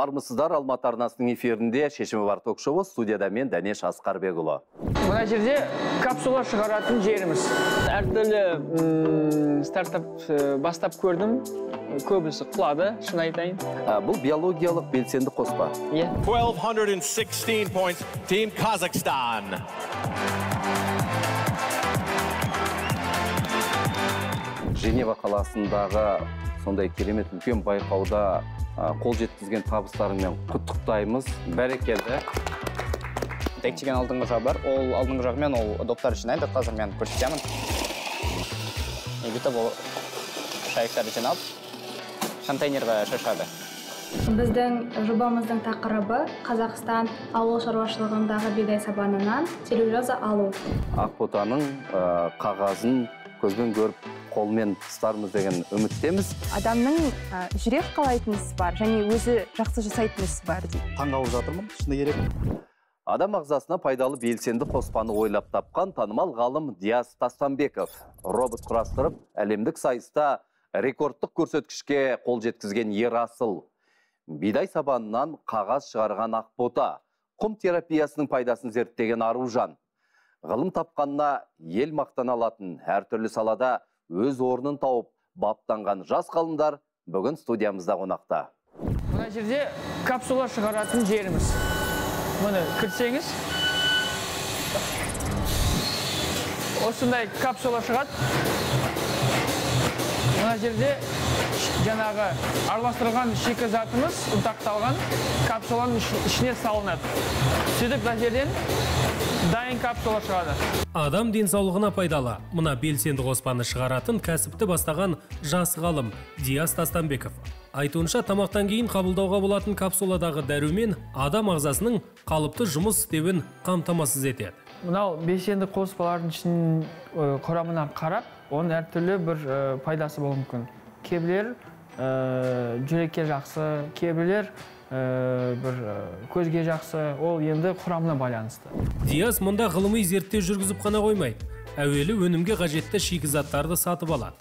Армысыздар, Алматы арнасының эфирінде шешімі бар ток-шоуы, студияда мен Дәнеш Асқарбекұлы. Мына жерде капсула шығаратын жеріміз. Әртүрлі стартап бастап көрдім. Көбісі құлады, шын айтайын. Бұл биологиялық белсенді қоспа. 1216 points, Team Kazakhstan. Женева қаласындағы сондай керемет үлкен байқауда қол жеткізген табыстарымен құттықтаймыз. Бәрекелді. Текчеген алдыңғы жағы бар. Ол алдыңғы жағымен ол доптар жинайды. Қазір мен көрсетемін. Бүйтіп ол шайықтарды жинап, контейнерға шашады. Біздің жобамыздың тақырыбы Қазақстан ауыл шаруашылығындағы бидай сабанынан целлюлоза алу. Ақботаның қағазын көзбен көріп, қолмен ұстармыз деген үміттеміз. Адамның жүрек қалайтын ісі бар, және өзі жақсы жасайтын ісі бар дейді. Таңғалып жатырмын, шыны керек. Адам ағзасына пайдалы белсенді қоспаны ойлап тапқан танымал ғалым Диас Тастанбеков робот құрастырып, әлемдік сайыста рекордтық көрсеткішке қол жеткізген ер асыл. Бидай сабанынан қағаз шығарған Ақбота, құм терапиясының пайдасын зерттеген Аружан. Ғылым тапқанына ел мақтан алатын әртүрлі салада өз орнын тауып баптанған жас ғалымдар бүгін студиямызда қонақта. Мына жерде капсула шығаратын жеріміз. Мұны кірсеңіз, осындай капсула шығады. Мына жерде жаңағы араластырылған шикізатымыз ұнтақталған капсуланың ішіне салынады. Сөйтіп мына жерден дайын капсула шығады. Адам денсаулығына пайдалы. Мұна белсенді қоспаны шығаратын кәсіпті бастаған жас ғалым Диас Тастанбеков. Айтуынша, тамақтан кейін қабылдауға болатын капсуладағы дәрумен адам ағзасының қалыпты жұмыс істеуін қамтамасыз етеді. Мынау белсенді қоспалардың ішінің құрамына қарап, оның әртүрлі бір пайдасы болуы мүмкін. Кейбіреулер жүрекке жақсы, кейбіреулер бір көзге жақсы, ол енді құрамына байланысты. Диас мұнда ғылыми зерттеу жүргізіп қана қоймайды. Әуелі өнімге қажетті шикізаттарды сатып алады.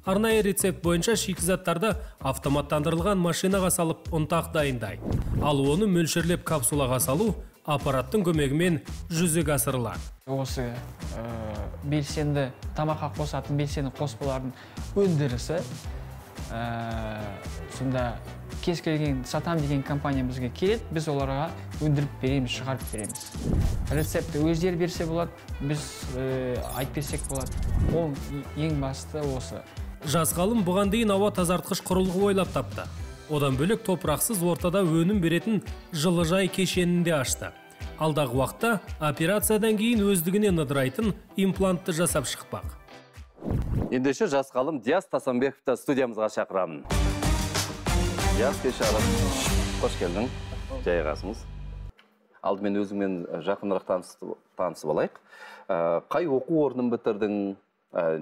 Арнайы рецепт бойынша шикізаттарды автоматтандырылған машинаға салып ұнтақ дайындайды. Ал оны мөлшерлеп капсулаға салу аппараттың көмегімен жүзеге асырылады. Осы белсенді тамаққа қосатын белсенді қоспалардың өндірісі сонда кез келген сатам деген компания бізге келеді, біз оларға өндіріп береміз, шығарып береміз. Рецепті өздері берсе болады, біз айтып берсек болады. Ол ең басты осы. Жас ғалым бұған дейін ауа тазартқыш құрылғы ойлап тапты. Одан бөлек топырақсыз ортада өнім беретін жылыжай кешенінде ашты. Алдағы уақытта операциядан кейін өздігінен ыдырайтын имплантты жасап шықпақ. Ендеше жас ғалым Диас Тастанбековты студиямызға шақырамын. Диас, кешағым, қош келдің, жайғасыңыз. Алдымен өзіңмен жақынырақ танысып алайық. Қай оқу орнын бітірдің,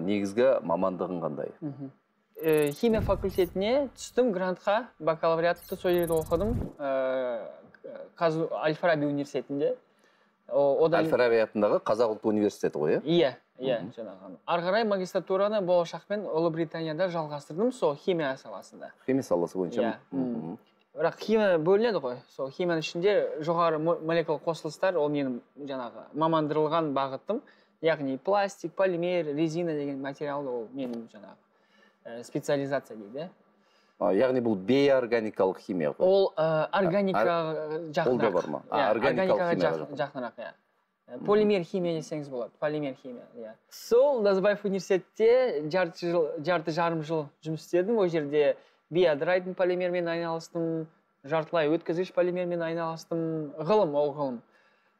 негізгі мамандығың қандай? Химия факультетіне түстім, грантқа, бакалавриатты сол жерде оқыдым, Әл-Фараби университетінде. Әл-Фараби атындағы Қазақ ұлттық университеті ғой, иә? Иә, жаңағы. Арғарай магистратураны болашақпен Ұлыбританияда жалғастырдым, сол химия саласында. Химия саласы бойынша? Иә. Бірақ химия бөлінеді ғой. Сол химияның ішінде жоғары молекула қосылыстар, ол менің жаңағы мамандырылған бағытым. Яғни пластик, полимер, резина деген материал, ол менің жаңағы специализация дейді. Яғни бұл бейорганикалық химия ғой? Ол органикаға жақынырақ. Ол да бар ма? Органикалық химия жақынырақ, иә. Полимер химия десеңіз болады, полимер химия. Сол Назарбаев университетте жарты жарым жыл жұмыс істедім. Ол жерде биодрайтын полимермен айналыстым, жартылай өткізгіш полимермен айналыстым. Ғылым, ол ғылым.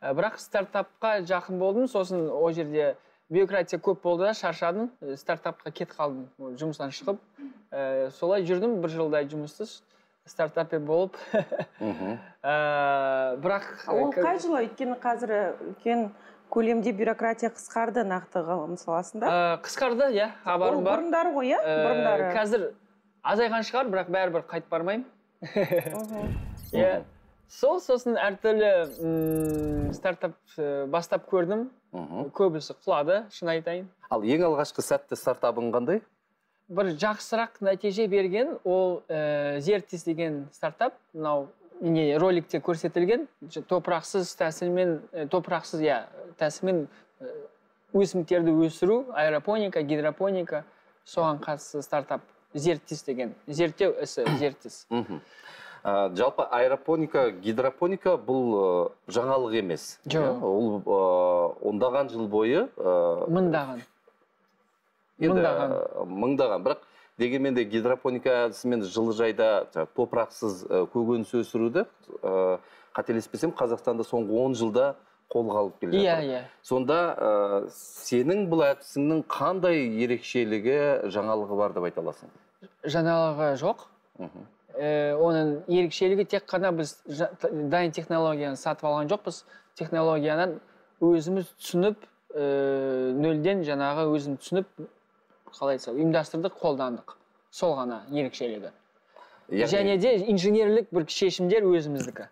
Бірақ стартапқа жақын болдым, сосын ол жерде бюрократия көп болды да, шаршадым, стартапқа кет қалдым, жұмыстан шығып. Солай жүрдім, бір жылдай жұмыссыз. Стартапе болып. Бірақ... Ол қай жылы? Өйткені қазір үлкен көлемде бюрократия қысқарды нақты ғылым саласында? Қысқарды, иә, хабарым бар. Ол бұрындары ғой, иә? Бұрындары. Қазір азайған шығар, бірақ бәрібір қайтып бармаймын. Сосын әртүрлі стартап бастап көрдім. Көбісі құлады, шын айтайын. Ал ең алғашқы сәтті стартабың қандай? Бір жақсырақ нәтиже берген, ол Зертис деген стартап. Мынау роликте көрсетілген топырақсыз тәсілмен өсімдіктерді өсіру, аэропоника, гидропоника, соған қатысты стартап зерттіс деген, зерттеу ісі зерттіс. Жалпы аэропоника, гидропоника бұл жаңалық емес. Жоқ. Ол ондаған жыл бойы... Мыңдаған. Бірақ дегенмен де гидропоника әдісімен жылыжайда топырақсыз көкөніс өсіруді, қателеспесем, Қазақстанда соңғы 10 жылда қолға алып келе жатыр. Сонда сенің бұл әдісіңнің қандай ерекшелігі, жаңалығы бар деп айта аласың? Жаңалығы жоқ. Оның ерекшелігі тек қана біз дайын технологияны сатып алған жоқпыз. Технологияны өзіміз түсініп, нөлден жаңағы өзім түсініп, ұйымдастырдық, қолдандық. Сол ғана ерекшелігі. Және де инженерлік бір шешімдер өзіміздікі.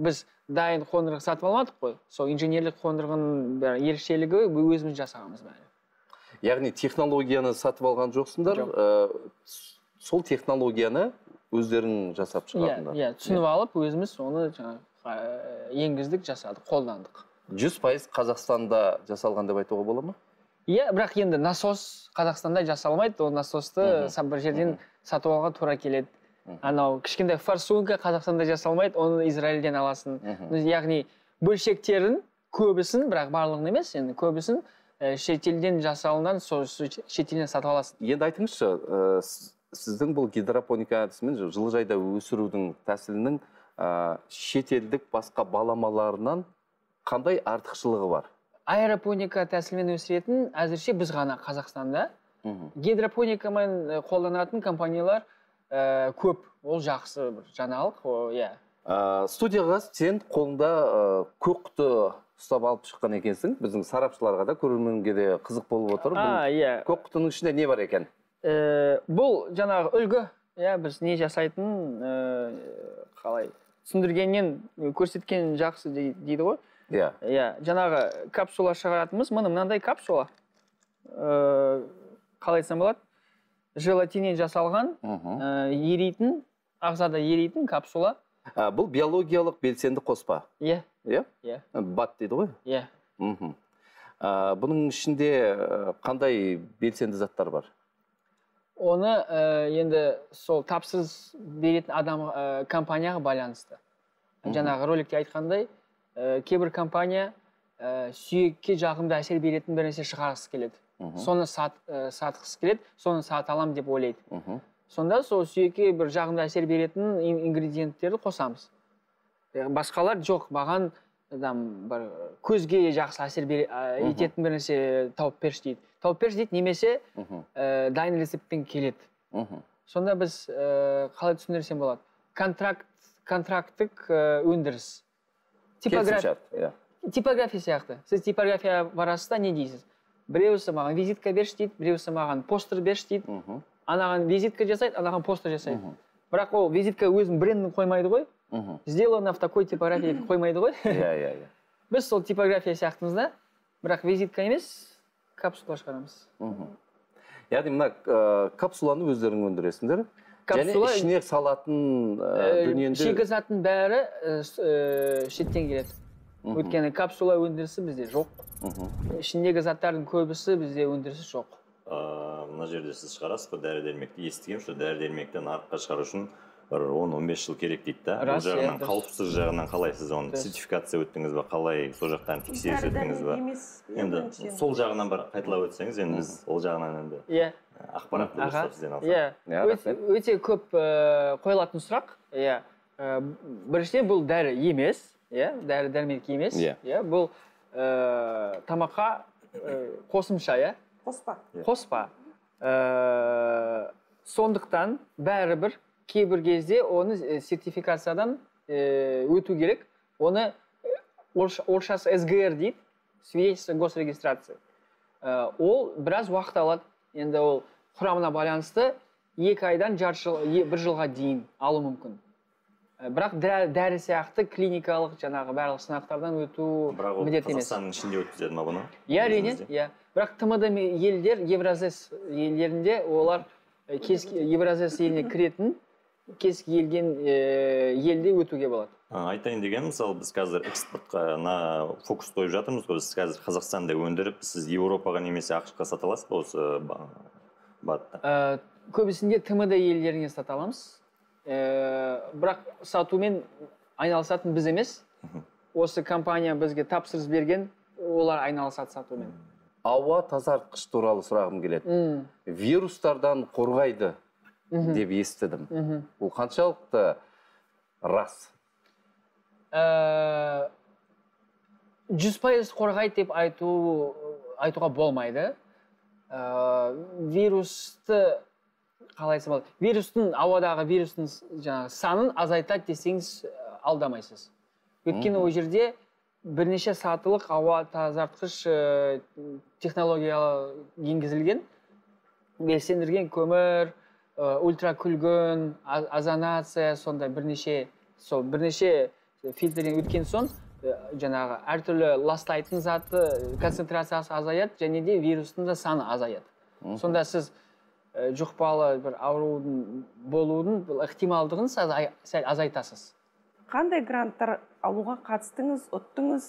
Біз дайын қондырғы сатып алмадық қой. Сол инженерлік қондырғының ерекшелігі өзіміз жасағанбыз бәрі. Яғни технологияны сатып алған жоқсыңдар, сол технологияны өздерің жасап шығардыңдар. Иә, түсініп алып, өзіміз оны енгіздік, жасадық, қолдандық. 100% Қазақстанда жасалған деп айтуға бола ма? Иә, бірақ енді насос Қазақстанда жасалмайды, ол насосты бір жерден сатып алуға тура келеді. Анау кішкентай форсунка Қазақстанда жасалмайды, оны Израильден аласың. Яғни бөлшектерін көбісін, бірақ барлығын емес, енді көбісін шетелден жасалынған, шетелден сатып аласың. Енді айтыңызшы, сіздің бұл гидропоника әдісімен жылыжайда өсірудің тәсілінің шетелдік басқа баламаларынан қандай артықшылығы бар? Аэропоника тәсілмен өсіретін әзірше біз ғана Қазақстанда. Гидропоникамен қолданатын компаниялар көп, ол жақсы бір жаңалық. Студияға сен қолында көк құты ұстап алып шыққан екенсің. Біздің сарапшыларға да, көрерменге де қызық болып отыр. Көк құтының ішінде не бар екен? Бұл жаңағы үлгі, біз не жасайтын, қалай түсіндіргеннен көрсеткен жақсы дейді ғой. Жаңағы капсула шығаратымыз, мынандай капсула. Қалай айтсам болады? Желатиннен жасалған, еритін, ағзада еритін капсула. Бұл биологиялық белсенді қоспа? Иә. БАД дейді ғой? Иә. Бұның ішінде қандай белсенді заттар бар? Оны енді сол тапсырыс беретін адам компанияға байланысты. Жаңағы роликте айтқандай, кейбір компания сүйекке жағымды әсер беретін бір нәрсе шығарғысы келеді. Соны сатқысы келеді, соны сата алам деп ойлайды. Сонда сол сүйекке бір жағымды әсер беретін ингредиенттерді қосамыз. Басқалар жоқ, маған көзге жақсы әсер ететін бір нәрсе тауып берші дейді. Тауып берші дейді, немесе дайын рецептпен келеді. Сонда біз қалай түсіндірсем болады? Контракттық өндіріс. Типография сияқты. Сіз типография барасыз, не дейсіз? Біреусі маған визитка берші дейді, біреусі маған постер берші дейді. Анаған визитка жасайды, анаған постер жасайды. Бірақ ол визитка өзінің брендін қоймайды ғой. Сделано в такой типографии қоймайды ғой. Біз сол типография сияқтымыз да, бірақ визитка емес, капсула шығарамыз. Яғни мына капсуланы өздерің өндіресіңдер? Және ішіне салатын дүниенде... Шикізаттың бәрі шеттен келеді. Өйткені капсула өндірісі бізде жоқ. Ішіндегі заттардың көбісі бізде өндірісі жоқ. Мына жерде сіз шығарасыз ба дәрі-дәрмекті? Естігем, что дәрі-дәрмекті нарыққа шығару үшін 10-15 жыл керек дейді да. Бұл жағынан, қауіпсіз жағынан қалай сіз оны сертификация өттіңіз ба, қалай сол жақтан тексеріс өттіңіз ба? Енді сол жағынан бір қайталап өтсеңіз, енді біз ол жағынан енді ақпаратты дұрыстап сізден алсақ. Өте көп қойылатын сұрақ. Біріншіден бұл дәрі емес, дәрі-дәрмек емес. Бұл тамаққа қосымша, қоспа. Сондықтан бәрібір кейбір кезде оны сертификациядан өту керек. Оны орысшасы СГР дейді, свидетельство госрегистрации. Ол біраз уақыт алады. Енді ол құрамына байланысты 2 айдан 1 жылға дейін алу мүмкін. Бірақ дәрі сияқты клиникалық жаңағы барлық сынақтардан өту міндет емес. Қазақстанның ішінде өткізеді ма бұны? Әрине, бірақ ТМД елдер, Евразес елдерінде олар Евразес еліне кіретін кез келген елде өтуге болады. Айтайын деген, мысалы біз қазір экспортқа фокус қойып жатырмыз ғой. Біз қазір Қазақстанда өндіріп, сіз Еуропаға немесе ақш-қа сата аласыз ба осы батты? Көбісінде ТМД елдеріне сата аламыз. Бірақ сатумен айналысатын біз емес. Осы компания бізге тапсырыс берген, олар айналысады сатумен. Ауа тазартқыш туралы сұрағым келеді. Вирустардан қорғайды деп естідім. Бұл қаншалықты рас? 100% қорғайды деп айтуға болмайды. Вирусты қалайсы болады? Вирустың, ауадағы вирустың санын азайтады десеңіз алдамайсыз. Өйткені ол жерде бірнеше сатылық ауа тазартқыш технология енгізілген, белсендірген көмір, ультракүлгін, озонация, сондай бірнеше фильтрден өткен соң, жаңағы әртүрлі ластайтын заты концентрациясы азаяды, және де вирустың да саны азаяды. Сонда сіз жұқпалы бір аурудың болудың ықтималдығын сәл азайтасыз. Қандай гранттар алуға қатыстыңыз, ұттыңыз,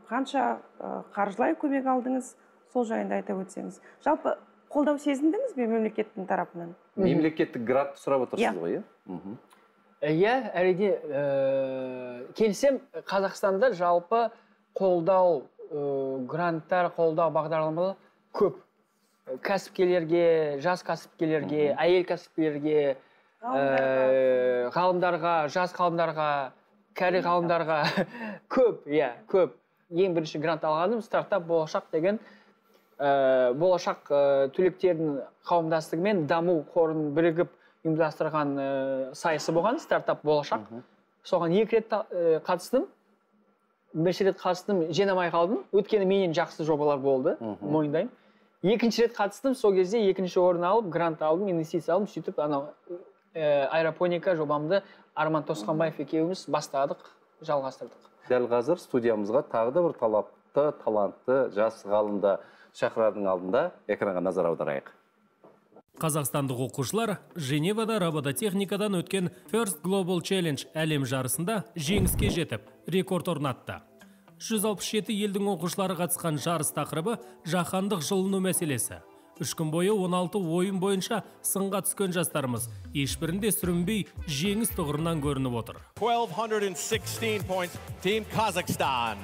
қанша қаржылай көмек алдыңыз, сол жайында айтып өтсеңіз. Жалпы қолдау сезіндіңіз бе мемлекеттің тарапынан? Мемлекеттік грант сұрап отырсыз ғой, иә, әрине келсем, Қазақстанда жалпы қолдау гранттар, қолдау бағдарламалары көп. Кәсіпкерлерге, жас кәсіпкерлерге, әйел кәсіпкерлерге, ғалымдарға, жас ғалымдарға, кәрі ғалымдарға көп, көп. Ең бірінші грант алғаным стартап болашақ деген болашақ түлектердің қауымдастығымен даму қорын бірігіп ұйымдастырған сайысы болған, стартап болашақ. Соған 2 рет қатыстым. Бірінші рет қатыстым, жеңілмей қалдым. Өткені менен жақсы жобалар болды, мойындаймын. Екінші рет қатыстым, сол кезде екінші орын алып, грант алдым, инвестиция алдым, сөйтіп аэропоника жобамды Арман Тосқанбаев екеуміз бастадық, жалғастырдық. Дәл қазір студиямызға тағы да бір талапты, талантты жас ғалымды шақырардың алдында экранға назар аударайық. Қазақстандық оқушылар Женевада робототехникадан өткен First Global Challenge әлем жарысында жеңіске жетіп, рекорд орнатты. 167 елдің оқушылары қатысқан жарыс тақырыбы жаһандық жылыну мәселесі. 3 күн бойы 16 ойын бойынша сынға түскен жастарымыз ешбірінде сүрінбей жеңіс тұғырынан көрініп отыр. 1216 points, Team Kazakhstan.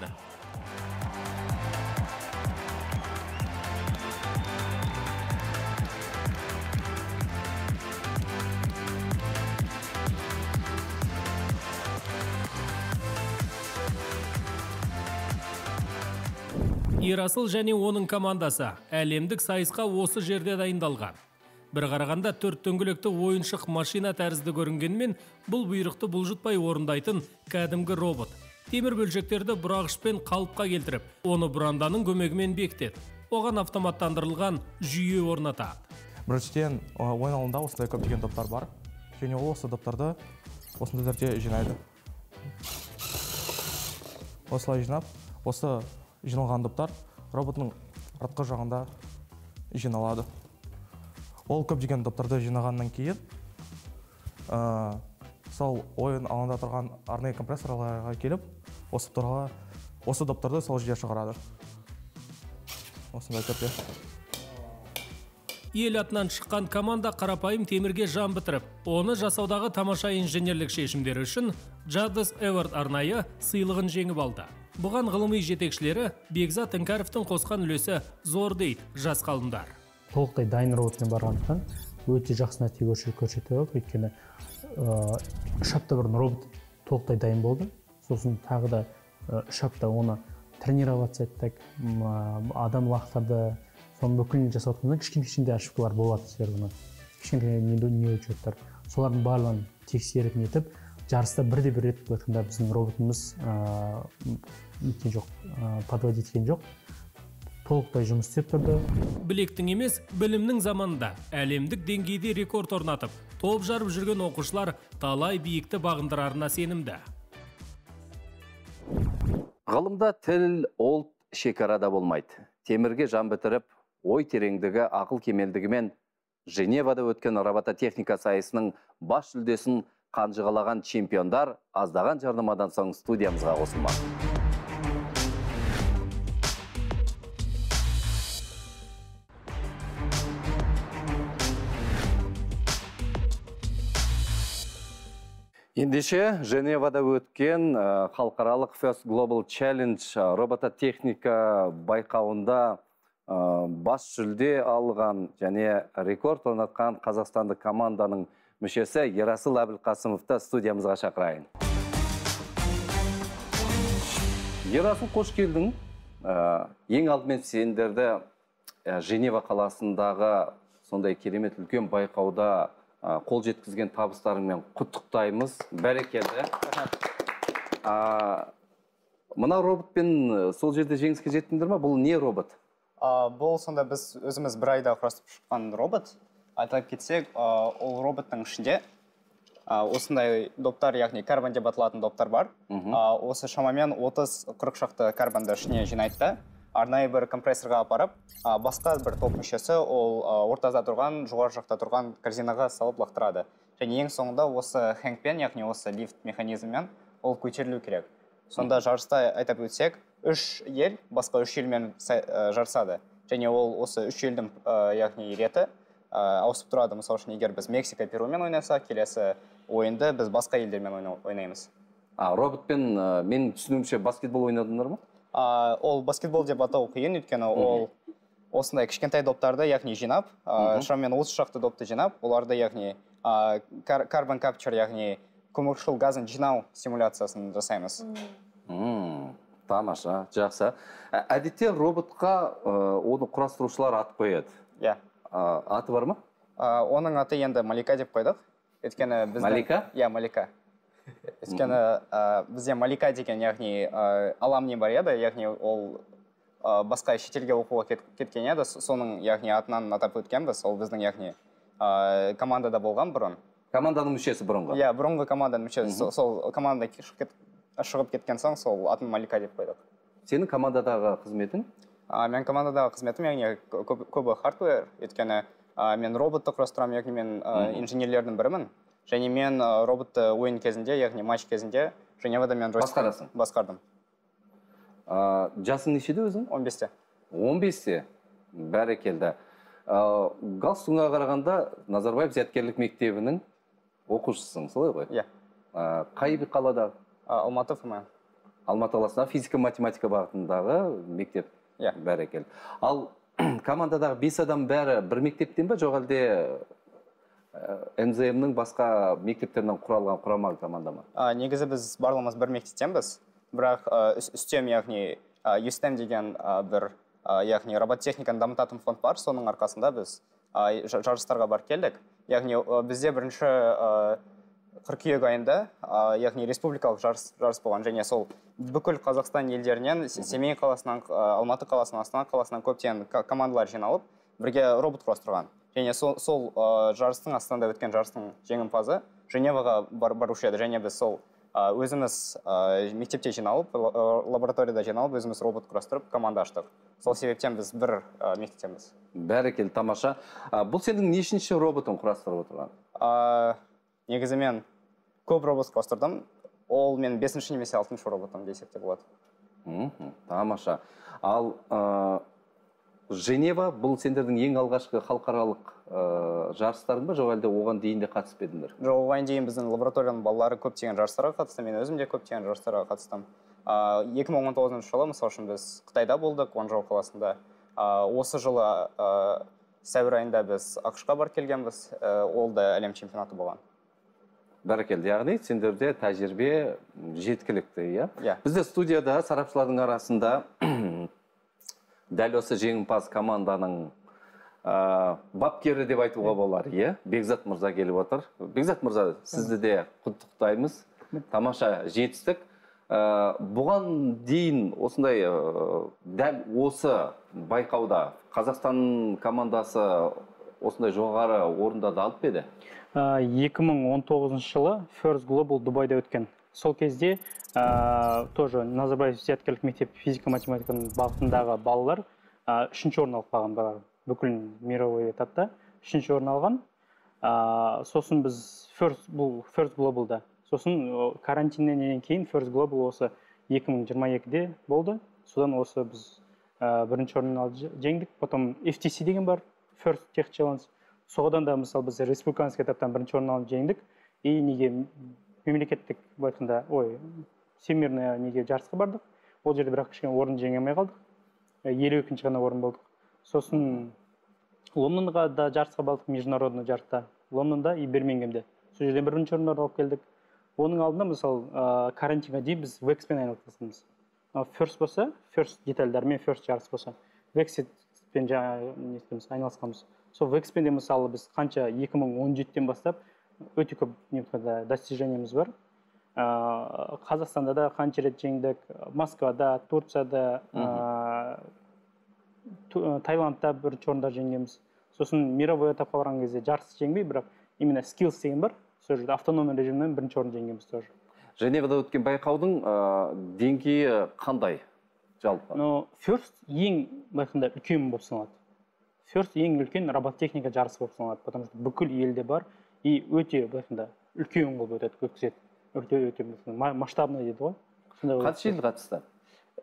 Ерасыл және оның командасы әлемдік сайысқа осы жерде дайындалған. Бір қарағанда 4 дөңгелекті ойыншық машина тәрізді көрінгенмен, бұл бұйрықты бұлжытпай орындайтын кәдімгі робот. Темір бөлшектерді бұрағышпен қалыпқа келтіріп, оны бұранданың көмегімен бекітеді. Оған автоматтандырылған жүйе орнатады. Біріншіден, ойын алаңында осындай көптеген топтар бар, және ол осы топтарды осындай жерде жинайды. Осылай жинап, осы жиналған топтар роботның артқы жағында жиналады. Ол көптеген топтарды жинағаннан кейін, сол ойын алаңда тұрған арнайы компрессорларға келіп, осы топтарды сол жерге шығарады. Осындай түрде. Ел атынан шыққан команда қарапайым темірге жан бітіріп, оны жасаудағы тамаша инженерлік шешімдері үшін Jadis Award арнайы сыйлығын жеңіп алды. Бұған ғылыми жетекшілері Бекзат Іңкәровтың қосқан үлесі зор дейді жас ғалымдар. Толықтай дайын роботпен барғандықтан өте жақсы нәтиже көрсетіп, өйткені 3 апта бұрын робот толықтай дайын болды. Сосын тағы да 3 апта оны тренировать еттік, адам лақтарды, соның бүкілін жасауатқанда кішкене ошибкалар болады сверху. Кішкене неучеттер. Солардың барлығын тексеріп нетіп, жарыста бірде-бір рет өткенде біздің роботымыз неткен жоқ, подводить еткен жоқ. Толықтай жұмыс істеп тұрды. Білектің емес, білімнің заманында әлемдік деңгейде рекорд орнатып, топ жарып жүрген оқушылар талай биікті бағындырарына сенімді. Ғылымда тіл, ұлт шекарада болмайды. Темірге жан бітіріп, ой тереңдігі, ақыл кемелдігімен Женевада өткен робототехника сайысының бас жүлдесін қанжығалаған чемпиондар аздаған жарнамадан соң студиямызға қосылмақ. Ендеше, Женевада өткен халықаралық First Global Challenge робототехника байқауында бас жүлде алған және рекорд орнатқан қазақстандық команданың мүшесі Ерасыл Әбілқасымовты студиямызға шақырайын. Ерасыл, қош келдің. Ең алдымен сендерді Женева қаласындағы сондай керемет үлкен байқауда қол жеткізген табыстарыңмен құттықтаймыз. Бәрекелді. Мына роботпен сол жерде жеңіске жеттіңдер ме? Бұл не робот? Бұл сонда біз өзіміз бір айда құрастырып шыққан робот. Айтып кетсек, ол роботтың ішінде осындай доптар, яғни карбон деп аталатын доптар бар. Осы шамамен 30-40 шақты карбонды ішіне жинайды. Арнайы бір компрессорға апарып, басқа бір топ мүшесі ол ортада тұрған, жоғары жақта тұрған корзинаға салып лақтырады. Және ең соңында осы хэнгпен, яғни осы лифт механизммен ол көтерілу керек. Сонда жарыста айтып өтсек, 3 ел басқа 3 елмен жарысады. Және ол осы 3 елдің яғни реті ауысып тұрады. Мысалы үшін, егер біз Мексика, Перумен ойнаса, келесі ойынды біз басқа елдермен ойнаймыз. Роботпен мен түсінуімше баскетбол ойнадыңдар ма? Ол баскетбол деп атау қиын, өйткені ол осындай кішкентай доптарды, яғни жинап, шамамен 30 шақты допты жинап, оларды, яғни карбон капчер, яғни көмірқышқыл газын жинау симуляциясын жасаймыз. Тамаша, жақсы. Әдетте роботқа оны құрастырушылар ат қояды. Иә. Аты бар ма? Оның аты енді Малика деп қойдық. Малика? Иә, Малика. Өйткені бізде Малика деген, яғни аламни бар еді, яғни ол басқа шетелге оқуға кеткен еді, соның, яғни атынан атап өткенбіз, ол біздің, яғни командада болған бұрын. Команданың мүшесі бұрынғы? Иә, бұрынғы команданың мүшесі. Сол команда шығып кеткен соң, сол атын Малика деп қойдық. Сенің командадағы қызметің? Мен командадағы қызметім, яғни көбі хардвер, өйткені мен роботты құрастырамын, яғни мен инженерлердің бірімін. Және мен роботты ойын кезінде, яғни матч кезінде Женевада мен басқардым. Жасың нешеде өзің? 15-те. 15-те? Бәрекелді. Галстуңа қарағанда Назарбаев зияткерлік мектебінің оқушысың, солай ғой? Иә. Қай қалада? Алматы ФМ. Алматы қаласында физика-математика бағытындағы мектеп? Иә. Бәрекелді. Ал командадағы 5 адам бәрі бір мектептен бе, жоқ әлде НЗМ-нің басқа мектептерінен құралған құрама команда ма? Негізі біз барлығымыз бір мектептенбіз. Бірақ үстем, яғни USTEM деген бір, яғни робототехниканы дамытатын фонд бар. Соның арқасында біз жарыстарға бар келдік. Яғни бізде бірінші қыркүйек айында, яғни республикалық жарыс болған. Және сол бүкіл Қазақстан елдерінен, Семей қаласынан, Алматы қаласынан, Астана қаласынан көптеген командалар жиналып, бірге робот құрастырған. Және сол жарыстың, Астанада өткен жарыстың жеңімпазы Женеваға барушы еді. Және біз сол өзіміз мектепте жиналып, лабораторияда жиналып, өзіміз робот құрастырып, команда аштық. Сол себептен біз бір мектептенбіз. Бәрекелді, тамаша. Бұл сенің нешінші роботын құрастырып отырған? Негізі мен көп робот құрастырдым. Ол мен 5-ші немесе 6-шы роботым десек те болады. Тамаша. Ал Женева бұл сендердің ең алғашқы халықаралық жарыстарың ба, жоқ әлде оған дейін де қатысып едіңдер? Жоқ, оған дейін біздің лабораторияның балалары көптеген жарыстарға қатысты, мен өзім де көптеген жарыстарға қатыстым. 2019 жылы, мысалы үшін, біз Қытайда болдық, Гуанчжоу қаласында. Осы жылы сәуір айында біз ақш-қа бар келгенбіз, ол да әлем чемпионаты болған. Бәрекелді, яғни сендерде тәжірибе жеткілікті, иә? Иә. Бізде студияда сарапшылардың арасында дәл осы жеңімпаз команданың бапкері деп айтуға болар, иә? Бекзат мырза келіп отыр. Бекзат мырза, сізді де құттықтаймыз. Тамаша жетістік. Бұған дейін осындай дәл осы байқауда Қазақстан командасы осындай жоғары орындарды алып еді? 2019 жылы First Global Дубайда өткен. Сол кезде тоже Назарбаев зияткерлік мектеп физика-математиканың бағытындағы балалар 3-ші орын алып қалған бүкіл мировой этапта. 3-ші орын алған. Сосын біз First Global'да. Сосын карантиннен кейін First Global осы 2022-де болды. Содан осы біз 1-ші орын алып жеңдік. Потом FTC деген бар, First Tech Challenge. Соғыдан да мысалы біз республиканский этаптан 1-ші орын алып жеңдік. И неге мемлекеттік айтқанда, всемирный неге жарысқа бардық. Ол жерде бірақ кішкене орын жеңе алмай қалдық. 52-ші ғана орын болдық. Сосын Лондонға да жарысқа бардық, международный жарыста. Лондонда и Бирмингемде. Сол жерден 1-ші орын алып келдік. Оның алдында мысалы карантинға дейін біз Векспен айналысамыз. First болса, First детальдармен First жарыс болса, Векспен айналысқанбыз. Сол Векспенде мысалы біз қанша 2017-тен бастап өте көп достижениеміз бар. Қазақстанда да қанша рет жеңдік, Москвада, Турцияда, Таиландта 1-ші орында жеңгенбіз. Сосын мировой этапқа барған кезде жарыс жеңбей, бірақ именно skills деген бар. Сол жерде автономный режимнен 1-ші орын жеңгенбіз тоже. Женевада өткен байқаудың деңгейі қандай жалпы? First ең байқында үлкен болып саналады. First ең үлкен робототехника жарысы болып саналады, потому что бүкіл елде бар и өте байқында үлкен болып өтеді, өткізеді. Өте масштабный дейді ғой. Қанша ел қатысты?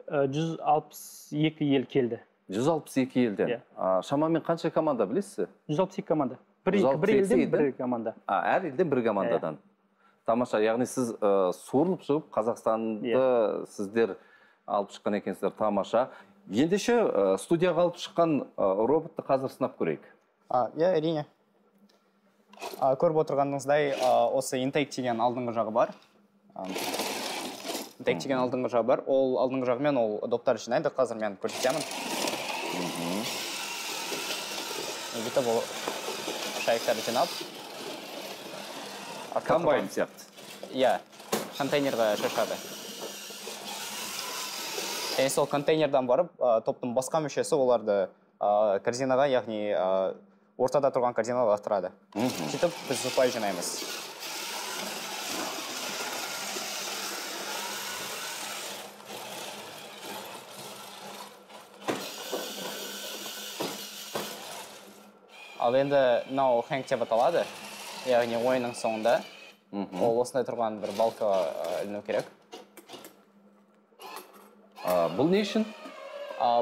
162 ел келді. 162 елден. Шамамен қанша команда білесіз? 162 команда. Бір елден бір команда. Әр елден бір командадан. Тамаша, яғни сіз суырылып шығып, Қазақстанды сіздер алып шыққан екенсіздер, тамаша. Ендеше студияға алып шыққан роботты қазір сынап көрейік. Әрине. Көріп отырғаныңыздай, осы интейк деген алдыңғы жағы бар. Интейк деген алдыңғы жағы бар. Ол алдыңғы жағымен ол доптар жинайды. Қазір мен көрсетемін. Бүйтіп ол шайықтарды жинап. Комбайн сияқты. Иә, контейнерға шашады. Және сол контейнердан барып, топтың басқа мүшесі оларды корзинаға, яғни ортада тұрған корзинаға лақтырады. Сөйтіп біз ұпай жинаймыз. Ал енді мынау хэнк деп аталады, яғни ойынның соңында. Ол осындай тұрған бір балкаға іліну керек. Бұл не үшін?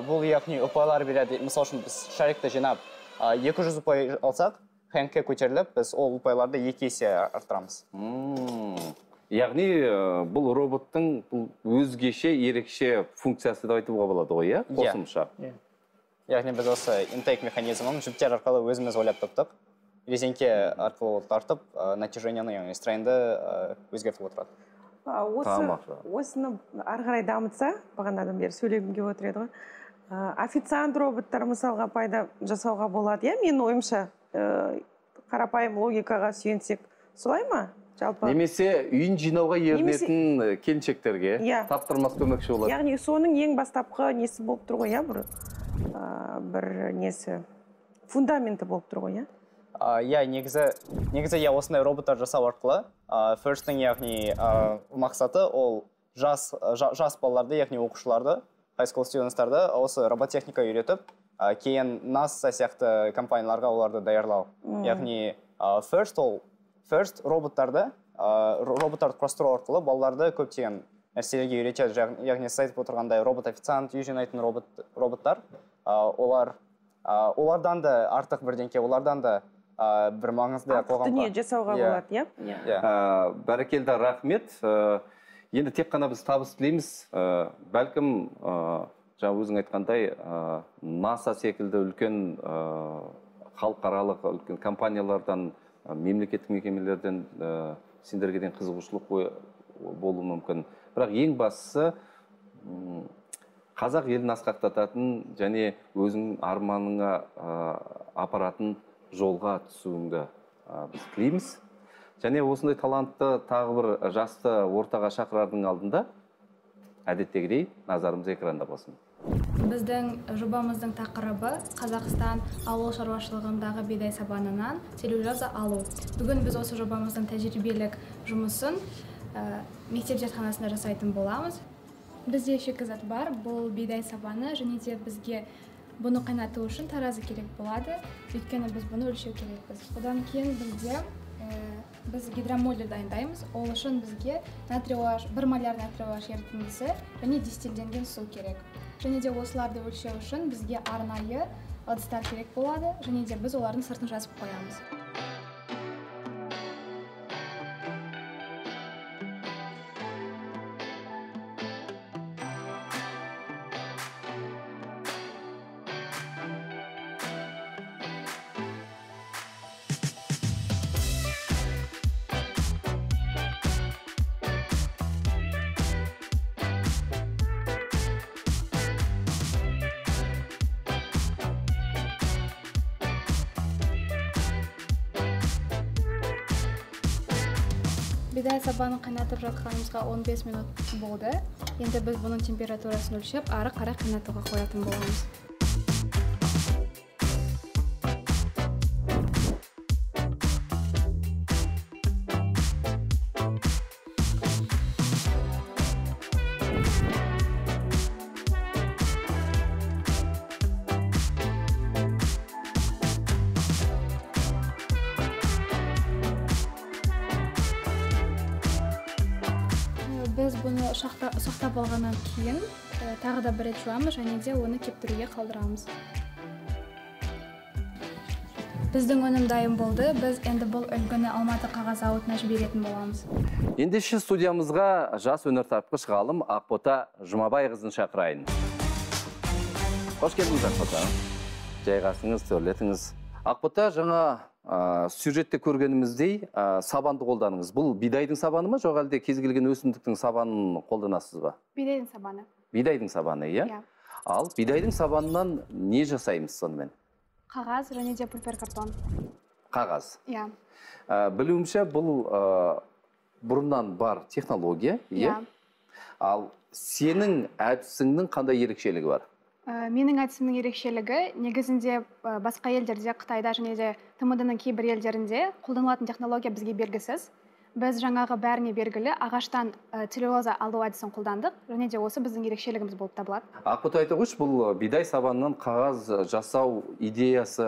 Бұл яғни ұпайлар береді. Мысал үшін біз шарикті жинап 200 ұпай алсақ, хэнкке көтеріліп, біз ол ұпайларды 2 есе арттырамыз. Яғни бұл роботтың өзгеше, ерекше функциясы да айтуға болады ғой, иә? Қосымша. Яғни біз осы интейк механизмін жүптер арқылы өзіміз ойлап таптық. Резеңке арқылы тартып, натяжениені, яғни стрейнді өзгертіп отырады. Осыны ары қарай дамытса, бағанадан бері сөйлегім келіп отыр еді ғой. Официант роботтар мысалға пайда жасауға болады, иә? Менің ойымша қарапайым логикаға сүйенсек, солай ма? Немесе үйін жинауға ерінетін келіншектерге таптырмас көмекші болады. Яғни соның ең бастапқы несі болып тұр ғой, бір несі фундаменті болып тұр ғой, негізі осындай роботтар жасау арқылы First'ың яғни мақсаты ол жас балаларды, яғни оқушыларды, high school students-тарды осы робототехника үйретіп, кейін NASA сияқты компанияларға оларды даярлау. Яғни First роботтарды құрастыру арқылы балаларды көптеген нәрселерге үйретеді. Яғни сіз айтып отырғандай робот-официант, үй жинайтын роботтар, олардан да артық бірдеңке, олардан да бір маңызды қоғамға. Дүние жасауға болады, иә? Бәрекелді, рахмет. Енді тек қана біз табыс тілейміз. Бәлкім, жаңа өзің айтқандай, NASA секілді үлкен халықаралық үлкен компаниялардан, мемлекеттік мекемелерден сендерге қызығушылық болуы мүмкін. Бірақ ең бастысы қазақ елін асқақтататын және өзің арманыңа апаратын жолға түсуіңді біз тілейміз. Және осындай талантты тағы бір жасты ортаға шақырардың алдында әдеттегідей назарымыз экранда болсын. Біздің жобамыздың тақырыбы Қазақстан ауыл шаруашылығындағы бидай сабанынан целлюлоза алу. Бүгін біз осы жобамыздың тәжірибелік жұмысын мектеп зертханасында жасайтын боламыз. Бізде шикізат бар, бұл бидай сабаны және де бізге бұны қайнату үшін таразы керек болады, өйткені біз бұны өлшеу керекпіз. Одан кейін біз гидромоли дайындаймыз. Ол үшін бізге 1 моляр натрий OH ерітіндісі және дистилденген су керек. Және де осыларды өлшеу үшін бізге арнайы ыдыстар керек болады, және де біз олардың сыртын жазып қоямыз. Бидай сабанын қайнатып жатқанымызға 15 минут болды. Енді біз бұның температурасын өлшеп, ары қарай қайнатуға қоятын боламыз. Біз бұны сақтап алғаннан кейін тағы да бір рет жуамыз және де оны кептіруге қалдырамыз. Біздің өнім дайын болды. Біз енді бұл үлгіні Алматы қағаз зауытына жіберетін боламыз. Ендеше студиямызға жас өнертапқыш ғалым Ақбота Жұмабайқызын шақырайын. Қош келдіңіз, Ақбота. Жайғасыңыз, төрлетіңіз. Ақбота, жаңа сюжетте көргеніміздей сабанды қолданыңыз. Бұл бидайдың сабаны ма, жоқ әлде кез келген өсімдіктің сабанын қолданасыз ба? Бидайдың сабаны. Бидайдың сабаны, иә? Ал бидайдың сабанынан не жасаймыз сонымен? Қағаз және де пульпер картон. Қағаз. Иә. Білуімше бұл бұрыннан бар технология, иә? Ал сенің әдісіңнің қандай ерекшелігі бар? Менің әдісімнің ерекшелігі негізінде басқа елдерде, Қытайда және де ТМД-ның кейбір елдерінде қолданылатын технология бізге белгісіз. Біз жаңағы бәріне белгілі ағаштан целлюлоза алу әдісін қолдандық, және де осы біздің ерекшелігіміз болып табылады. Ақбота, айта қойшы, бұл бидай сабанынан қағаз жасау идеясы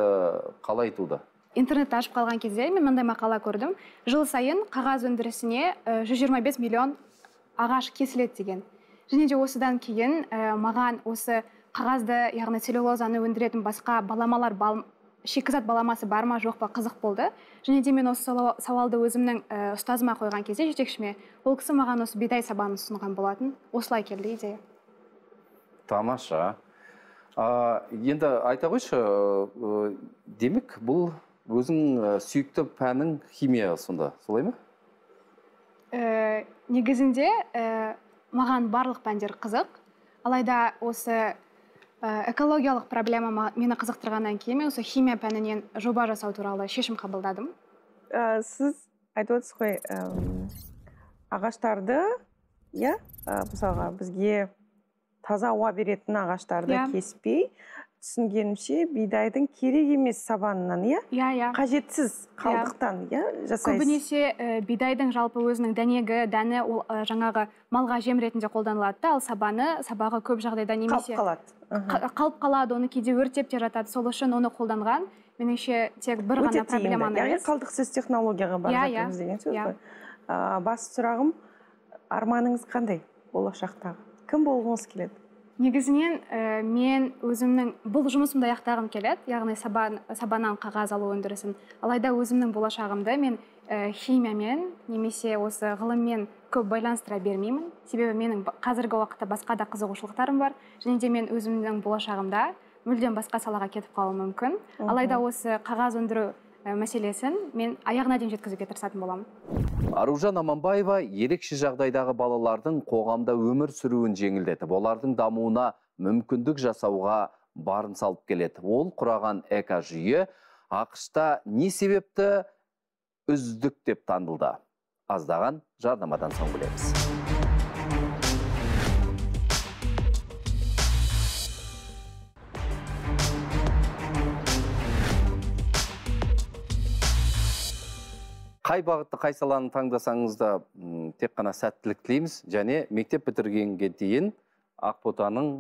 қалай туды? Интернетті ашып қалған кезде мен мындай мақала көрдім. Жыл сайын қағаз өндірісіне 125 миллион ағаш кесіледі деген. Және де осыдан кейін маған осы қағазды, яғни целлюлозаны өндіретін басқа баламалар, шикізат баламасы бар ма, жоқ па, қызық болды. Және де мен осы сауалды өзімнің ұстазыма қойған кезде, жетекшіме, ол кісі маған осы бидай сабанын ұсынған болатын. Осылай келді идея. Тамаша. Енді айта қойшы, демек бұл өзің сүйікті пәнің химия сонда, солай ма? Негізінде маған барлық пәндер қызық. Алайда осы экологиялық проблема мені қызықтырғаннан кейін мен осы химия пәнінен жоба жасау туралы шешім қабылдадым. Сіз айтып отырсыз ғой, ағаштарды, мысалға бізге таза ауа беретін ағаштарды кеспей, түсінгенімше бидайдың керек емес сабанынан, қажетсіз қалдықтан жасайсыз. Көбінесе бидайдың жалпы өзінің дәні жаңағы малға жем ретінде қолданылады, ал сабағы көп жағдайда немесе қалып қалады, оны кейде өртеп те жатады. Сол үшін оны қолданған, меніңше тек бір ғана проблеманы емес. Қалдықсыз технологияға бар жатырмыз деген сөз ғой. Басты сұрағым, арманыңыз қандай болашақтағы? Кім болғыңыз келеді? Негізінен мен өзімнің бұл жұмысымды аяқтағым келеді, яғни сабаннан қағаз алу өндірісін. Алайда өзімнің болашағымды мен химиямен немесе осы ғылыммен көп байланыстыра бермеймін. Себебі менің қазіргі уақытта басқа да қызығушылықтарым бар. Және де мен өзімнің болашағымда мүлдем басқа салаға кетіп қалуым мүмкін. Алайда осы қағаз өндіру мәселесін мен аяғына дейін жеткізуге тырысатын боламын. Аружан Аманбаева ерекше жағдайдағы балалардың қоғамда өмір сүруін жеңілдетіп, олардың дамуына мүмкіндік жасауға барын салып келеді. Ол құраған экожүйе ақш-та не себепті үздік деп танылды? Аздаған жарнамадан соң білеміз. Қай бағытты, қай саланы таңдасаңыз да тек қана сәттілік тілейміз, және мектеп бітіргенге дейін Ақботаның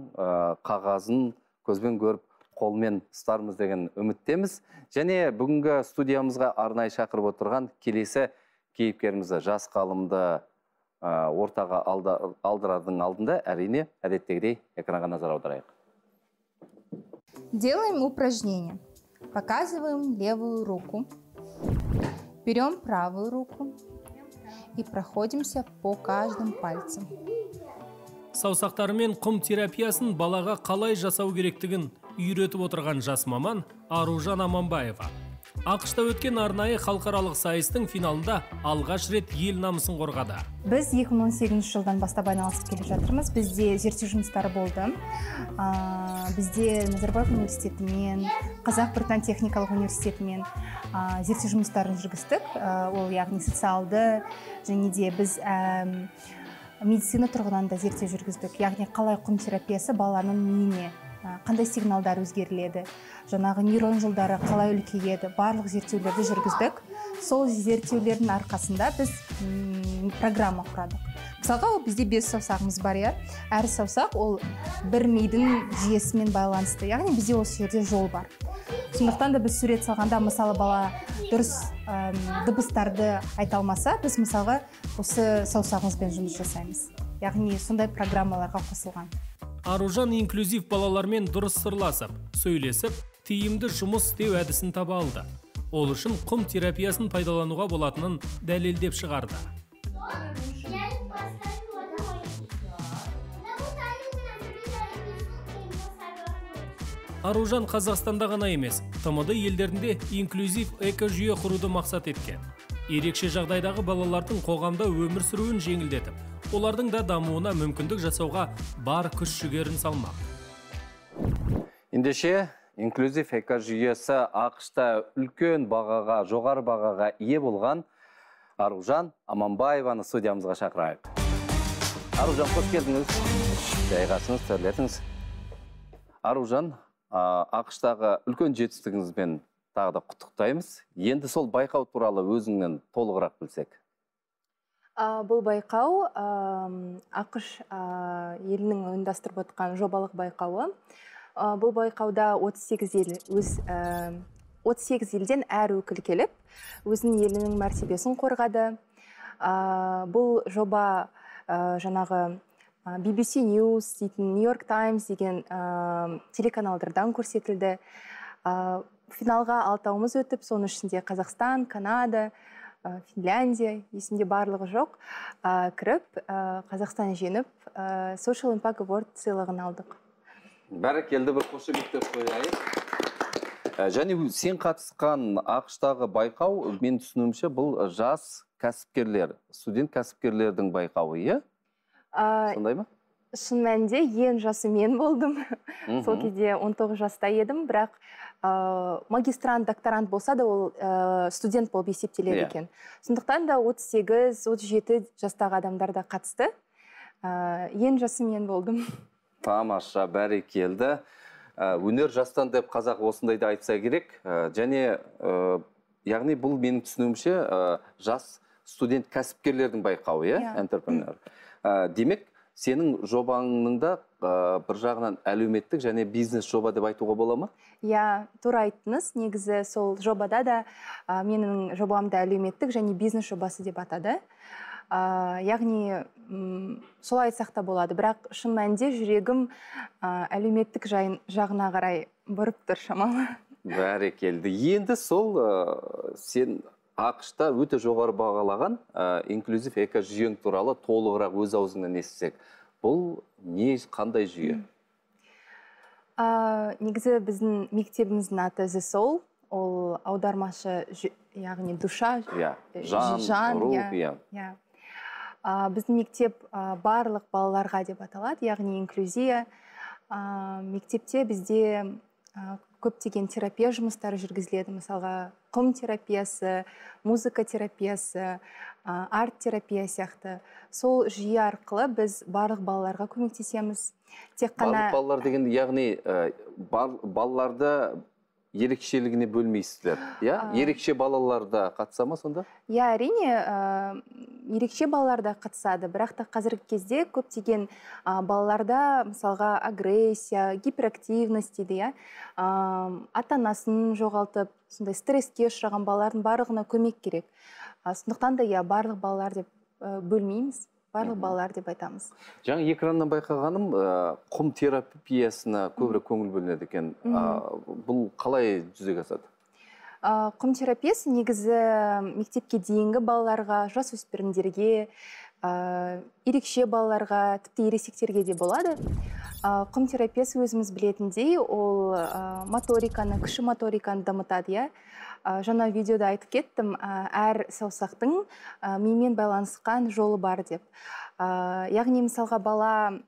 қағазын көзбен көріп қолмен ұстармыз деген үміттеміз. Және бүгінгі студиямызға арнайы шақырып отырған келесі кейіпкерімізді, жас ғалымды ортаға алдырардың алдында әрине әдеттегідей экранға назар аударайық. Делаем упражнение. Показываем левую руку. Берем правую руку и проходимся по каждым пальцам. Саусақтарымен құм терапиясын балаға қалай жасау керектігін үйретіп отырған жас маман Аружан Аманбаева. Ақшта өткен арнайы халықаралық сайыстың финалында алғаш рет ел намысын қорғады. Біз 2018 жылдан бастап айналысып келе жатырмыз. Бізде зерттеу жұмыстары болды. Бізде Назарбаев университетімен, Қазақ-Британ техникалық университетімен зерттеу жұмыстарын жүргіздік. Ол яғни социалды және де біз медицина тұрғыдан да зерттеу жүргіздік. Яғни қалай құм терапиясы баланың миіне қандай сигналдар өзгеріледі, жаңағы нейрон жолдары қалай үлкейеді, барлық зерттеулерді жүргіздік. Сол зерттеулердің арқасында біз программа құрадық. Мысалға, бізде 5 саусағымыз бар, әр саусақ ол бір мидың жүйесімен байланысты. Яғни бізде осы жерде жол бар. Сондықтан да біз сурет салғанда, мысалы, бала дұрыс дыбыстарды айта алмаса, біз мысалға осы саусағымызбен жұмыс жасаймыз. Яғни сондай программаларға қосылған. Аружан инклюзив балалармен дұрыс сырласып, сөйлесіп, тиімді жұмыс істеу әдісін таба алды. Ол үшін құм терапиясын пайдалануға болатынын дәлелдеп шығарды. Аружан Қазақстанда ғана емес, ТМД елдерінде инклюзив экожүйе құруды мақсат еткен. Ерекше жағдайдағы балалардың қоғамда өмір сүруін жеңілдетіп, олардың да дамуына мүмкіндік жасауға бар күш жүгерін салмақ. Ендеше, инклюзив экожүйесі ақшта үлкен бағаға, жоғары бағаға ие болған Аружан Аманбаеваны студиямызға шақырайық. Аружан, қош келдіңіз. Жайғасыңыз, төрлетіңіз. Аружан, ақштағы үлкен жетістігіңізбен тағы да құттықтаймыз. Енді сол байқау туралы өзіңнен толығырақ білсек. Бұл байқау ақш елінің ұйымдастырып отқан жобалық байқауы. Бұл байқауда 38 елден әр өкіл келіп, өзінің елінің мәртебесін қорғады. Бұл жоба жаңағы BBC News дейтін, New York Times деген телеканалдардан көрсетілді. Финалға 6-ауымыз өтіп, соның ішінде Қазақстан, Канада, Финляндия, есімде барлығы жоқ, кіріп, Қазақстан жеңіп, Social Impact Award сыйлығын алдық. Бәрекелді, бір қошеметтеп қояйық. Және сен қатысқан ақштағы байқау, мен түсінуімше, бұл жас кәсіпкерлер, студент кәсіпкерлердің байқауы, е? Сондай ма? Шын мәнінде ең жасы мен болдым. Сол кезде 19 жаста едім, бірақ магистрант, докторант болса да ол студент болып есептеледі екен. Сондықтан да 38-37 жастағы адамдар да қатысты. Ең жасы мен болдым. Тамаша, бәрекелді. Өнер жастан деп қазақ осындайды айтса керек. Және, яғни бұл менің түсінуімше жас студент кәсіпкерлердің байқауы, entrepreneur. Демек, сенің жобаңның да бір жағынан әлеуметтік және бизнес жоба деп айтуға бола ма? Иә, тура айттыңыз. Негізі сол жобада да менің жобамды әлеуметтік және бизнес жобасы деп атады. Яғни солай айтсақ та болады. Бірақ шын мәнінде жүрегім әлеуметтік жағына қарай бұрып тұр шамалы. Бәрекелді. Енді сол сен ақшта өте жоғары бағалаған инклюзив экожүйең туралы толығырақ өз аузыңнан естісек. Бұл не, қандай жүйе? Негізі біздің мектебіміздің аты The Soul. Ол аудармашы, яғни душа, жан, рух. Біздің мектеп барлық балаларға деп аталады, яғни инклюзия. Мектепте бізде көптеген терапия жұмыстары жүргізіледі. Мысалға, құм терапиясы, музыка терапиясы, арт терапия сияқты. Сол жүйе арқылы біз барлық балаларға көмектесеміз. Барлық балалар деген, яғни балаларды ерекшелігіне бөлмейсіздер. Ерекше балаларда қатыса ма сонда? Әрине, ерекше балалар да қатысады, бірақ та қазіргі кезде көптеген балаларда мысалға агрессия, гиперактивность дейді, иә, ата-анасын жоғалтып, сондай стресске ұшыраған балалардың барлығына көмек керек. Сондықтан да барлық балалар деп бөлмейміз, барлық балалар деп айтамыз. Жаңа экраннан байқағаным, құм терапиясына көбірек көңіл бөлінеді екен. Бұл қалай жүзеге асады? Құм терапиясы негізі мектепке дейінгі балаларға, жасөспірімдерге, ерекше балаларға, тіпті ересектерге де болады. Құм терапиясы өзіміз білетіндей, ол моториканы, кіші моториканы дамытады. Жаңа видеода айтып кеттім, әр саусақтың мимен байланысқан жолы бар деп. Яғни мысалға бала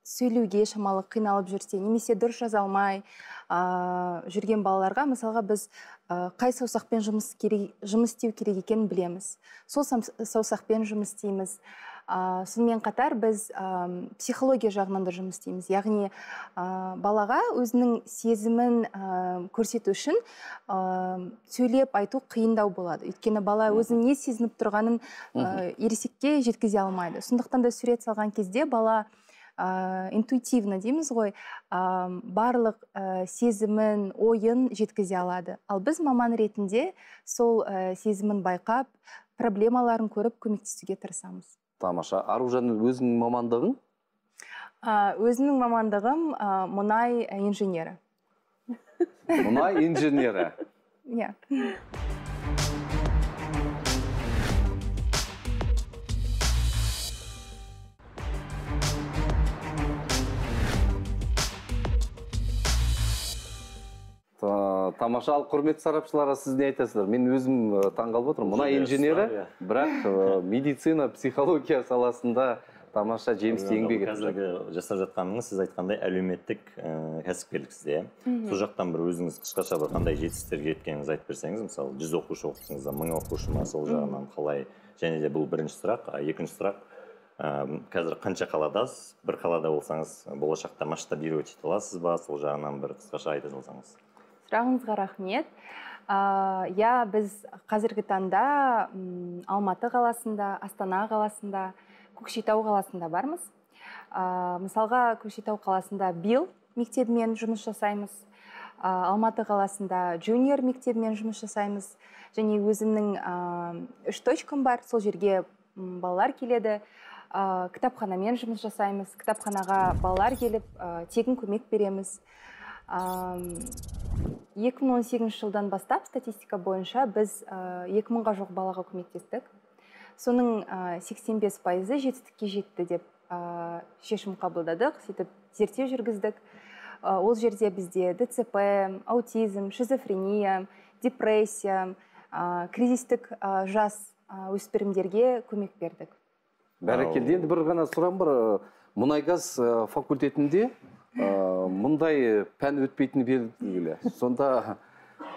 сөйлеуге шамалы қиналып жүрсе, немесе дұрыс жаза алмай жүрген балаларға мысалға біз қай саусақпен жұмыс істеу керек екенін білеміз. Сол саусақпен жұмыс істейміз. Сонымен қатар біз психология жағынан да жұмыс істейміз. Яғни балаға өзінің сезімін көрсету үшін сөйлеп айту қиындау болады. Өйткені бала өзінің не сезініп тұрғанын ересекке жеткізе алмайды. Сондықтан да сурет салған кезде бала интуитивно дейміз ғой, барлық сезімін, ойын жеткізе алады. Ал біз маман ретінде сол сезімін байқап, проблемаларын көріп көмектесуге тырысамыз. Тамаша. Аружан, өзіңнің мамандығың? Өзімнің мамандығым мұнай инженері. Мұнай инженері? Иә. Тамаша. Ал құрметті сарапшыларға сіз не айтасыздар? Мен өзім таңғалып отырмын. Мұнай инженері, бірақ медицина, психология саласында тамаша жемісті еңбек етіп қазіргі жасап жатқаныңыз, сіз айтқандай әлеуметтік кәсіпкерлік сізде. Сол жақтан бір өзіңіз қысқаша бір қандай жетістіктерге жеткеніңізді айтып берсеңіз, мысалы 100 оқушы оқытсаңыз да 1000 оқушы ма, сол жағынан қалай? Және де бұл бірінші сұрақ. Екінші сұрақ, қазір қанша қаладасыз? Бір қалада болсаңыз, болашақта масштабировать ете аласыз ба? Сол жағынан бір қысқаша айта салсаңыз. Сұрағыңызға рахмет. Біз қазіргі таңда Алматы қаласында, Астана қаласында, Көкшетау қаласында бармыз. Мысалға, Көкшетау қаласында БИЛ мектебімен жұмыс жасаймыз. Алматы қаласында Junior мектебімен жұмыс жасаймыз. Және өзімнің 3 точкам бар, сол жерге балалар келеді. Кітапханамен жұмыс жасаймыз. Кітапханаға балалар келіп, тегін көмек береміз. 2018 жылдан бастап статистика бойынша біз 2000-ға жоқ балаға көмектестік. Соның 85% жетістікке жетті деп шешім қабылдадық, сөйтіп зерттеу жүргіздік. Ол жерде бізде ДЦП, аутизм, шизофрения, депрессия, кризистік жас өспірімдерге көмек бердік. Бәрекелді. Енді бір ғана сұрағым бар. Мұнай-газ факультетінде мұндай пән өтпейтіні белгілі. Сонда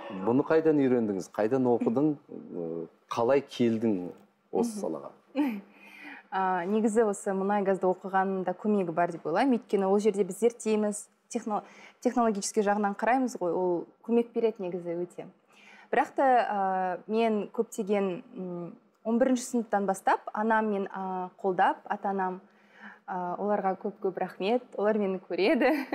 бұны қайдан үйрендіңіз? Қайдан оқыдың? Қалай келдің осы салаға? Негізі осы мұнай-газды оқығанында көмегі бар деп ойлаймын. Өйткені ол жерде біз зерттейміз, технологический жағынан қараймыз ғой, ол көмек береді негізі өте. Бірақ та мен көптеген 11-ші сыныптан бастап анам мен қолдап, ата-анам, оларға көп рахмет, олар мені көреді.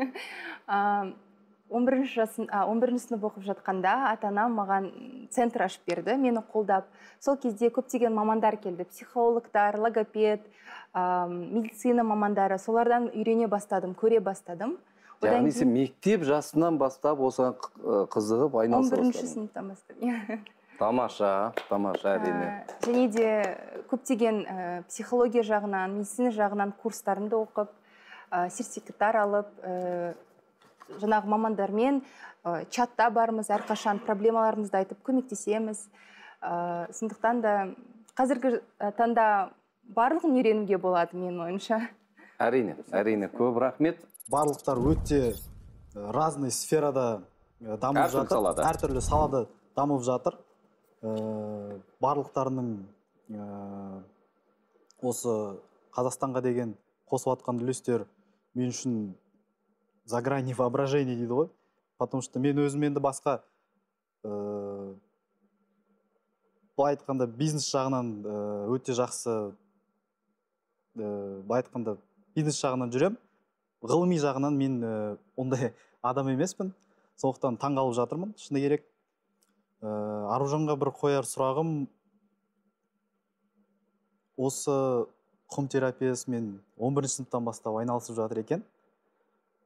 11-ші сынып оқып жатқанда ата-анам маған центр ашып берді, мені қолдап. Сол кезде көптеген мамандар келді, психологтар, логопед, медицина мамандары, солардан үйрене бастадым, көре бастадым. Яғни сен мектеп жасынан бастап осыған қызығып айналыса бастадың? 11-ші сыныптан бастап. Тамаша, әрине. Және де көптеген психология жағынан, медицина жағынан курстарымды оқып, сертификаттар алып, жаңағы мамандармен чатта бармыз, әрқашан проблемаларымызды айтып көмектесеміз. Сондықтан да қазіргі таңда барлығын үйренуге болады менің ойымша. Әрине, көп рахмет. Барлықтар өте разный сферада дамып жатыр, әртүрлі салада дамып жатыр. Барлықтарының осы Қазақстанға деген қосып атқан үлестер мен үшін за грани воображения дейді ғой. Потому что мен өзім енді басқа былай айтқанда бизнес жағынан өте жақсы, былай айтқанда бизнес жағынан жүрем. Ғылыми жағынан мен ондай адам емеспін. Сондықтан таңғалып жатырмын, шыны керек. Аружанға бір қояр сұрағым, осы құм терапиясымен 11-ші сыныптан бастап айналысып жатыр екен.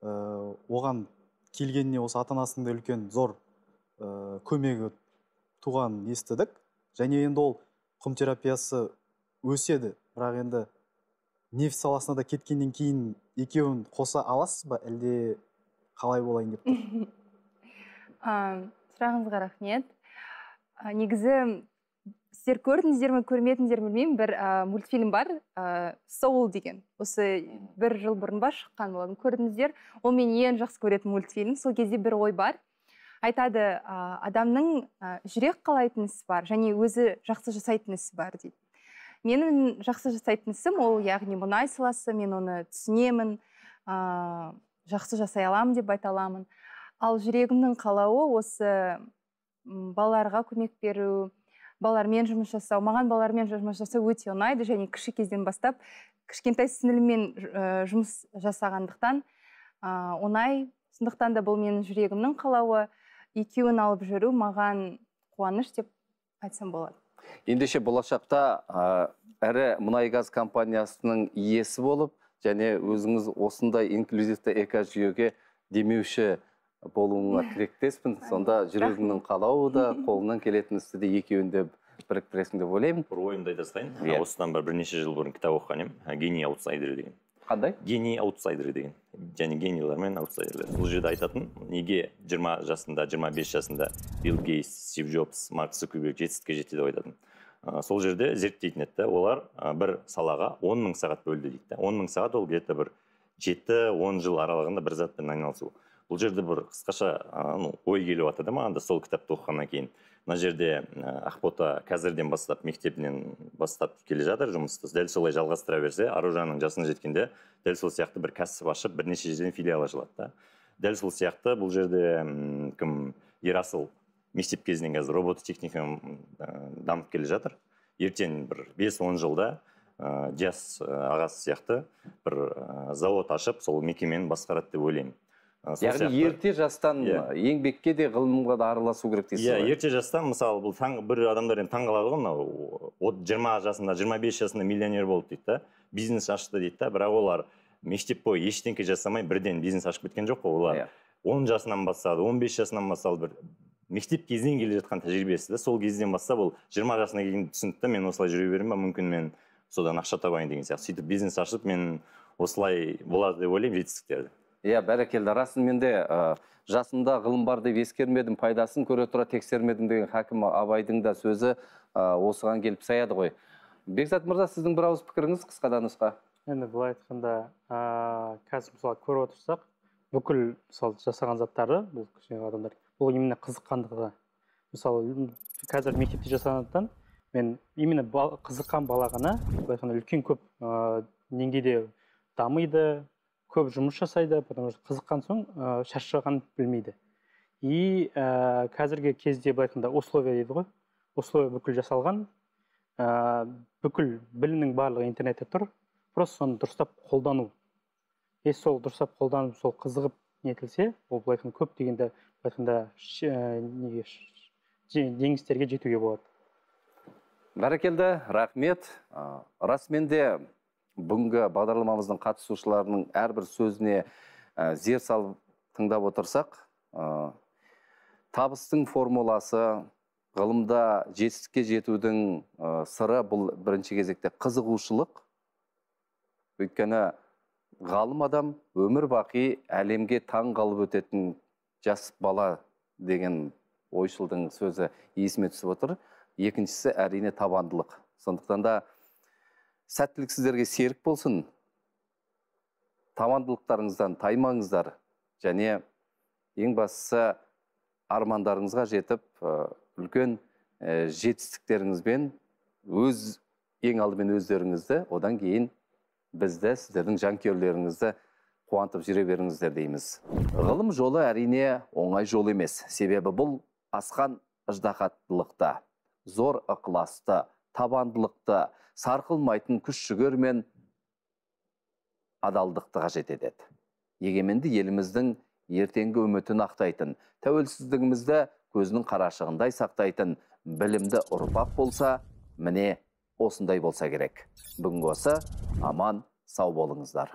Оған келгеніне осы ата-анасының да үлкен зор көмегі туған естідік. Және енді ол құм терапиясы өседі, бірақ енді нефть саласына да кеткеннен кейін екеуін қоса аласыз ба, әлде қалай болайын деп тұр? Сұрағыңызға рахмет. Негізі сіздер көрдіңіздер ме, көрмедіңіздер ме білмеймін, бір мультфильм бар, Soul деген. Осы бір жыл бұрын ба шыққан болатын. Көрдіңіздер, ол мен ең жақсы көретін мультфильм. Сол кезде бір ой бар. Айтады, адамның жүрек қалайтын ісі бар, және өзі жақсы жасайтын ісі бар дейді. Менің жақсы жасайтын ісім ол, яғни мұнай саласы, мен оны түсінемін, жақсы жасай аламын деп айта аламын. Ал жүрегімнің қалауы осы балаларға көмек беру, балалармен жұмыс жасау. Маған балалармен жұмыс жасау өте ұнайды, және кіші кезден бастап кішкентай сіңіліммен жұмыс жасағандықтан оңай. Сондықтан да бұл менің жүрегімнің қалауы, екеуін алып жүру маған қуаныш деп айтсам болады. Ендеше болашақта әрі мұнай газ компаниясының иесі болып, және өзіңіз осындай инклюзивті экожүйеге демеуші болуыңа тілектеспін. Сонда жүрегіңнің қалауы да, қолынан келетін істі де екеуінде біріктіресің деп ойлаймын. Бір ойымды айта салайын. Осыдан бірнеше жыл бұрын кітап оқыған едім. Гений аутсайдер деген. Қандай? Гений аутсайдер деген. Және генийлер мен аутсайдерлер. Бұл жерде айтатын, неге 20 жасында, 25 жасында Билл Гейтс, Стив Джобс, Марк Цукерберг жетістікке жетті деп айтатын. Сол жерде зерттейтін еді, олар бір салаға 10 000 сағат бөлді дейді. 10 000 сағат ол где-то бір 7-10 жыл аралығында бір затпен айналысу. Бұл жерде бір қысқаша ой келіп жатыр да маған да сол кітапты оқығаннан кейін. Мына жерде Ақбота қазірден бастап, мектебінен бастап келе жатыр жұмысты. Дәл солай жалғастыра берсе, Аружанның жасына жеткенде дәл сол сияқты бір кәсіп ашып, бірнеше жерден филиал ашылады. Дәл сол сияқты бұл жерде кім Ерасыл мектеп кезінен қазір робототехникамен дамып келе жатыр. Ертең бір 5-10 жылда жас ағасы сияқты бір завод ашып, сол мекемені басқарады деп ойлаймын. Яғни ерте жастан еңбекке де ғылымға да араласу керек дейсіз ғой? Ерте жастан, мысалы, бұл бір адамдар таңғалады ғой, 20 жасында, 25 жасында миллионер болды дейді, бизнес ашты дейді, бірақ олар мектеп бойы ештеңке жасамай бірден бизнес ашып кеткен жоқ қой, олар 10 жасынан бастады, 15 жасынан бастады, бір мектеп кезінен келе жатқан тәжірибесі, сол кезден бастап ол 20 жасына келген түсінді, мен осылай жүре берем ба, мүмкін мен содан ақша табайын деген сияқты. Сөйтіп бизнес ашып, мен осылай болады деп ойлаймын жетістіктерді. Бәрекелді, расымен де жасымда ғылым бар деп ескермедім, пайдасын көре тұра тексермедім деген Хакім Абайдың да сөзі осыған келіп саяды ғой. Бекзат мырза, сіздің бір ауыз пікіріңіз қысқа нұсқа? Енді былай айтқанда, қазір мысалы көріп отырсақ, бүкіл мысалы жасаған заттары бұл кішкене адамдар, бұл именно қызыққандығы. Мысалы қазір мектепте жасағандықтан мен именно қызыққан бала ғана былай айтқанда үлкен көп деңгейде дамиды, көп жұмыс жасайды, потому что қызыққан соң шаршаған білмейді. И қазіргі кезде былай айтқанда условия дейді ғой, условия бүкіл жасалған, бүкіл білімнің барлығы интернетте тұр, просто соны дұрыстап қолдану. Сол дұрыстап қолданып, сол қызығып нетілсе, ол былай айтқанда көп дегенде былай айтқанда жеңістерге жетуге болады. Бәрекелді, рахмет. Расымен де бүгінгі бағдарламамыздың қатысушыларының әрбір сөзіне зер салып тыңдап отырсақ, табыстың формуласы, ғылымда жетістікке жетудің сыры бұл бірінші кезекте қызығушылық. Өйткені ғалым адам өмір бақи әлемге таң қалып өтетін жас бала деген ойшылдың сөзі есіме түсіп отыр. Екіншісі әрине табандылық. Сондықтан да сәттілік сіздерге серік болсын. Табандылықтарыңыздан таймаңыздар. Және ең бастысы армандарыңызға жетіп, үлкен жетістіктеріңізбен ең алдымен өздеріңізді, одан кейін бізді, сіздердің жанкүйерлеріңізді қуантып жүре беріңіздер дейміз. Ғылым жолы әрине оңай жол емес. Себебі бұл асқан ыждахаттылықта. зор ықыласты, табандылықты, сарқылмайтын күш-жігер мен адалдықты қажет етеді. Егеменді еліміздің ертеңгі үмітін ақтайтын, тәуелсіздігімізді көзінің қарашығындай сақтайтын білімді ұрпақ болса, міне осындай болса керек. Бүгінгі осы, аман, сау болыңыздар.